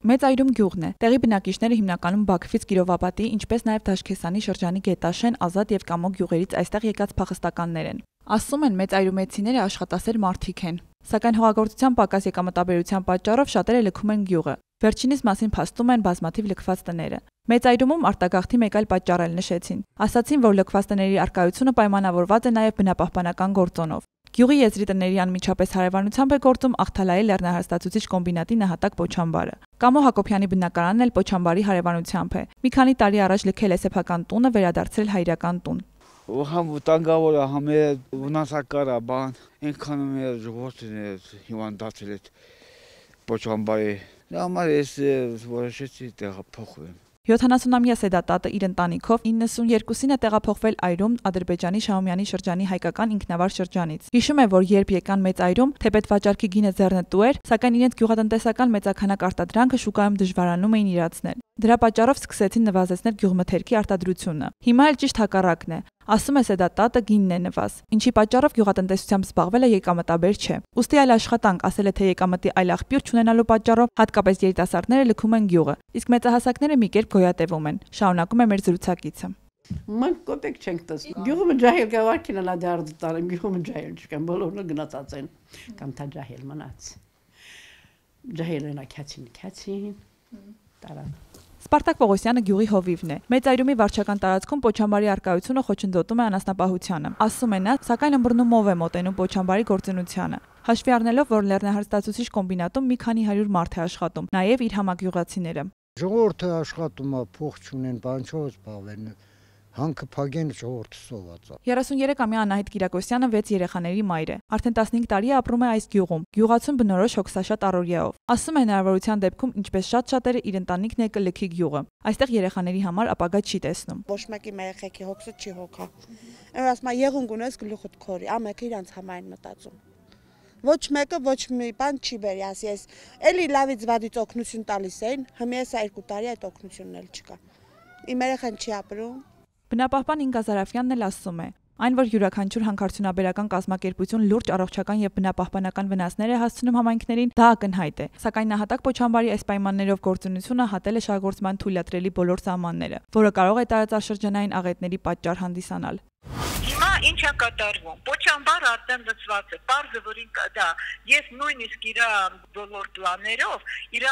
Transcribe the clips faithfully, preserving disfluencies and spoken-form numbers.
Մեծ Այրում գյուղն է։ Տեղի բնակիչները հիմնականում Բաքվից Կիրովապատի, ինչպես նաև Դաշկեսանի շրջանի Գետաշեն, Ազատ եւ Կամո գյուղերից այստեղ եկած փախստականներ են։ Ասում են մեծ այրումեցիները աշխատասեր մարդիկ են։ Սակայն հողագործության պակաս եկամտաբերության պատճառով շատերը լքում են գյուղը։ Վերջինիս մասին փաստում են բազմաթիվ լքված տները։ Մեծ Այրումում արտագաղթի մեկ այլ պատճառ էլ նշեցին։ Ասացին, որ լքված տների առկայությունը պայմանավորված է նաև բնապահպանական գործոնով։ Գյուղի եզրի տների անմիջապես հարևանությամբ է գործում Աղթալայի լեռնահարստացուցիչ կոմբինատի նահատակ Պոչամբարը։ Կամո Հակոբյանի բնակարանն էլ Պոչամբարի հարևանությամբ է։ Մի քանի տարի առաջ լքել է սեփական տունը, վերադարձրել հայրական տուն։ Համ վտանգավոր է, համ է վնասակար է, բան, այնքան մեր ժողովուրդն է հիվանդացել այդ Պոչամբարի։ Դա համար ես որոշեցի տեղափոխվեմ։ յոթանասունամյա Սեդատատը իր ընտանիքով իննսունյերկուսին է տեղափոխվել Այրում Ադրբեջանի Շահումյանի շրջանի հայկական ինքնավար շրջանից։ Հիշում է, որ երբ եկան Մեծ Այրում, թեպետ վաճառքի գինը ձեռնտու էր, սակայն իրենց գյուղատնտեսական մեծաքանակ արտադրանքը շուկայում դժվարանում էին իրացնել։ Դրա պատճառով սկսեցին նվազեցնել գյուղմթերքի արտադրությունը։ Հիմա էլ ճիշտ հակառակն է։ Ասում է Սեդատատը, գինն է նվազ, ինչի պատճառով գյուղատնտեսությամբ զբաղվելը եկամտաբեր չէ։ Ուստի այլ աշխատանք, ասել է թե եկամտի այլ աղբյուր չունենալու պատճառով հատկապես երիտասարդները լքում են գյուղը, իսկ մեծահասակները մի կերպ գոյատևում են։ Շարունակում է մեր զրուցակիցը։ Մենք կոպեկ չենք տեսնում։ Գյուղը ջահել գավարքին լա դարձ տարեմ, գյուղը ջահել չկան, բոլորը գնացած են, կամ թա ջահել մնաց։ Ջահելն է քացին, քացին, տարան։ Սպարտակ Պողոսյանը գյուղի հովիվն է։ Մեծ Այրումի վարչական տարածքում Պոչամբարի առկայությունը խոչընդոտում է անասնապահությանը։ Ասում է նա, սակայն ըմբռնումով է մոտենում Պոչամբարի գործունեությանը։ Հաշվի առնելով, որ լեռնահարստացուցիչ կոմբինատում մի քանի հարյուր մարդ է աշխատում, նաև իր համագյուղացիները։ Ժողովուրդը աշխատում է, փող չունեն, բան չով զբաղվեն։ Հանքը փագեն ժողովուրդը սոված է։ երեսունյերեքամյա Անահիտ Կիրակոսյանը վեց երեխաների մայր է։ Արդեն տասնհինգ տարի է ապրում է այս գյուղում, գյուղացուն բնորոշ հոգսաշատ առօրյայով։ Ասում է հնարավորության դեպքում, ինչպես շատ շատերը իր ընտանիքն է կլքի գյուղը։ Այստեղ երեխաների համար ապագա չի տեսնում։ Ոչ մեկի երեխեքի հոգսը չի հոգա։ Այն ասում է եղունգ ունես գլուխդ քորի, ամենը իրանց համայն մտածում։ Ոչ մեկը ոչ մի բան չի բերի, ասի ես էլի լավից վադից օգնություն տալիս էին, հիմա ես երկու տարի այդ օգնությունն էլ չկա։ Իմ երեխան չի ապրում։ Բնապահպան Ինգա Զարաֆյանն էլ ասում է, այն, որ յուրաքանչյուր հանքարդյունաբերական կազմակերպություն լուրջ առողջական եւ բնապահպանական վնասներ է հասցնում համայնքներին, դա ակնհայտ է։ Սակայն նահատակ Պոչամբարի այս պայմաններով գործունեությունը հատել է շահգործման թույլատրելի բոլոր սահմանները, որը կարող է տարածաշրջանային աղետների պատճառ հանդիսանալ։ Հիմա ինչ է կատարվում։ Պոչամբարը արդեն լծված է, պարզը որ դա ես նույնիսկ իր բոլոր պլաններով իր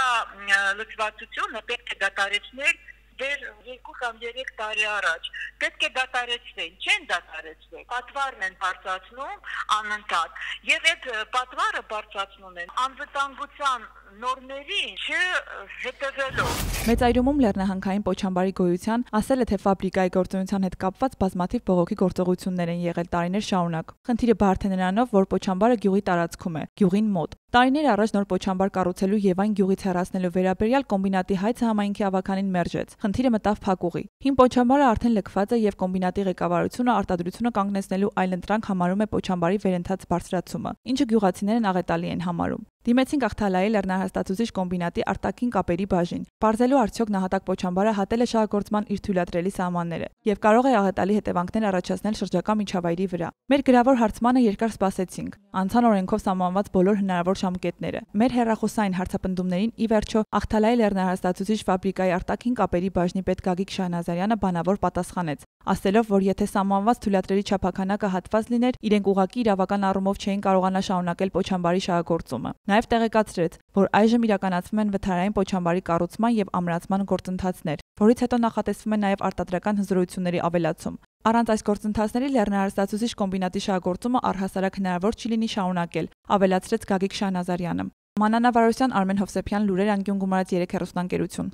լծվածությունը պետք է դադարեցնել դեր երկու կամ երեք տարի առաջ պետք է դադարեցվեն, չեն դադարեցվել, պատվարն են բարձրացնում անընդհատ եւ այդ պատվարը բարձրացնում են անվտանգության նորմերին չհետևելով։ Մեծ Այրումում լեռնահանքային Պոչամբարի գոյության ասել է թե ֆաբրիկայի գործունեության հետ կապված բազմաթիվ բողոքի գործողություններ են եղել տարիներ շարունակ։ Խնդիրը բարդ է նրանով, որ Պոչամբարը գյուղի տարածքում է, գյուղին մոտ։ Տարիներ առաջ նոր Պոչամբար կառուցելու եւ այն գյուղից հեռացնելու վերաբերյալ կոմբինատի հայցը համայնքի ավականին մերժեց։ Խնդիրը մտավ փակուղի։ Հին Պոչամբարը արդեն լքված է եւ կոմբինատի ղեկավարությունը արտադրությունը կանգնեցնելու այլընտրանք համարում է Պոչամբարի վերընթաց բարձրացումը, ինչը գյուղացիներն աղետալի են համարում։ Դիմեցինք Աղթալայի լեռնահարստացուցիչ կոմբինատի արտաքին կապերի բաժին։ Պարզելու արդյոք նահատակ Պոչամբարը հատել է շահագործման իր թույլատրելի սահմանները եւ կարող է աղետալի հետևանքներ առաջացնել շրջակա միջավայրի վրա։ Մեր գրավոր հարցմանը երկար սպասեցինք։ Անցան օրենքով սահմանված բոլոր հնարավոր ժամկետները։ Մեր հեռախոսային հարցապնդումներին ի վերջո Աղթալայի լեռնահարստացուցիչ ֆաբրիկայի արտաքին կապերի բաժնի պետ Գագիկ Շահնազարյանը բանավոր պատասխանեց, ասելով, որ եթե սահմանված թույլատրելի չափականակը հատված լիներ, իրենք ուղղակի իրավական առումով չէին կարողանա շարունակել Պոչամբարի շահագործումը։ Նաև տեղեկացրեց, որ այժմ իրականացվում են վթարային Պոչամբարի կառուցման եւ ամրացման գործընթացներ, որից հետո նախատեսվում է նաև արտադրական հզորությունների ավելացում։ Առանց այս գործընթացների լեռնահարստացուցիչ կոմբինատի շահագործումը առհասարակ հնարավոր չի լինի շարունակել, ավելացրեց Գագիկ Շահնազարյանը։ Մանանա Վարոսյան, Արմեն Հովսեփյան, լուրեր անկյուն գումարած երեք հեռուստաընկերություն։